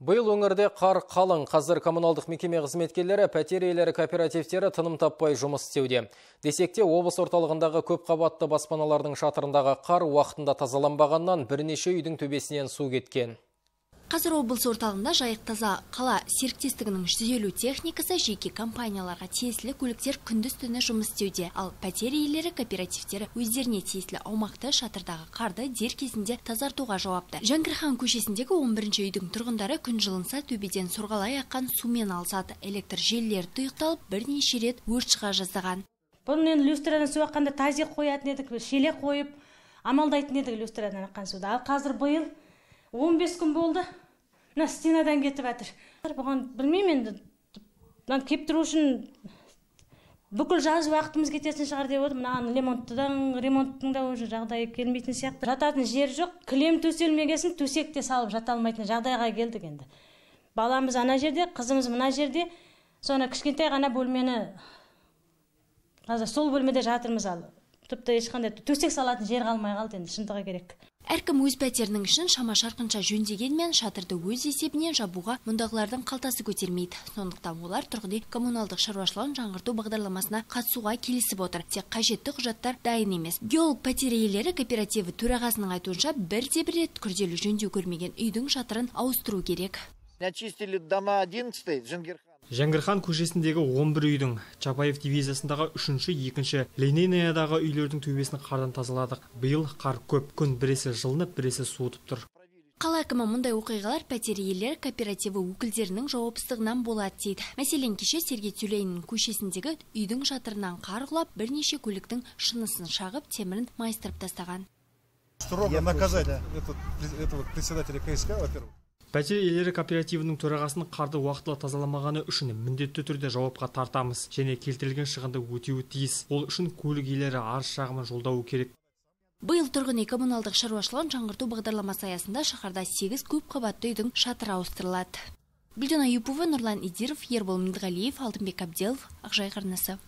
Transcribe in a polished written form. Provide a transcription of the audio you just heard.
Биыл өңірде қар қалың. Қазір коммуналдық мекеме қызметкерлері, пәтер иелері кооперативтері тыным таппай жұмыс істеуде. Десекте, облыс орталығындағы көп қабатты баспаналардың шатырындағы қар уақытында тазаланбағаннан бірнеше үйдің төбесінен су кеткен. Қазір облыс орталығында Жайық таза қала серіктестігінің 150 техникасы жеке компанияларға тиесілі көліктер күндіз-түні жұмыс істеуде. Ал пәтер иелері кооперативтері өздеріне тиесілі аумақты шатырдағы қарды дер кезінде тазартуға жауапты. Жәңгірхан көшесіндегі 11-ші үйдің тұрғындары күн жылынса төбеден сорғалай аққан сумен алысады. Электр желілері тұйықталып, бірнеше рет өрт шыға жаздаған. Бұның люстрадан су аққанда тазик қоятын едік, шелек қойып, амалдайтын едік люстрадан аққан суды. Ал қазір биыл 15 күн болды. Мына стенадан кетіп жатыр. Бұған білмеймін енді. Мынаны кеп тұру үшін бүкіл жаз уақытымыз кетесін шығар деп отыр. Мына ремонттың да уже жағдайы келмейтін сияқты. Жататын жер жоқ. Кілем төселмегесін төсекте салып жата алмайтын жағдайға келдік енді. Баламыз ана жерде, қызымыз мына жерде. Соны кішкентай ғана бөлмені қазір сол бөлмеде жатырмыз ал. Тіпті ешқандай төсек салатын жер қалмай қалды енді, шындығы керек. Әркім өз пәтерінің ішін шама-шарқынша жөндегенмен шатырды өз есебінен жабуға мұндағылардың қалтасы көтермейді. Сондықтан олар тұрғын үй коммуналдық шаруашылығын жаңғырту бағдарламасына қатысуға келісіп отыр. Тек қажетті құжаттар дайын емес. Геолог пәтер иелері кооперативі төрағасының айтуынша бірде-бір рет күрделі жөндеу көрмеген үйдің шатырын ауыстыру керек. Очистили дома 11-й, Жәңгірхан көшесіндегі 11 үйдің, Чапаев дивизиясындағы 3-ші, 2-ші, Ленинаядағы үйлердің төбесін қардан тазаладық. Биыл қар көп, күн біресе жылынып, біресе суытып тұр. Қала әкімі мұндай оқиғалар пәтер иелері кооперативі өкілдерінің жауапсыздығынан болады дейді. Мәселен, кеше Сергей Тюленин көшесіндегі үйдің шатырынан қар құлап, бірнеше көліктің шынысын шағып, темірін майыстырып тастаған. Строго наказать этого председателя КСК, во-первых. Пәтер иелері кооперативінің төрағасының қарды уақытылы тазаламағаны үшін міндетті түрде жауапқа тартамыз және келтірілген шығынды өтеуі тиіс. Ол үшін көлік иелері арыз шағымын жолдауы керек. Биыл тұрғын үй коммуналдық шаруашылығын жаңғырту бағдарламасы аясында шаһарда 8 көп қабатты үйдің шатыры ауыстырылады. Гүлжан Аюпова, Нұрлан Идиров, Ербол Меңдіғалиев, Алтынбек Абделов, Ақжайық арнасы.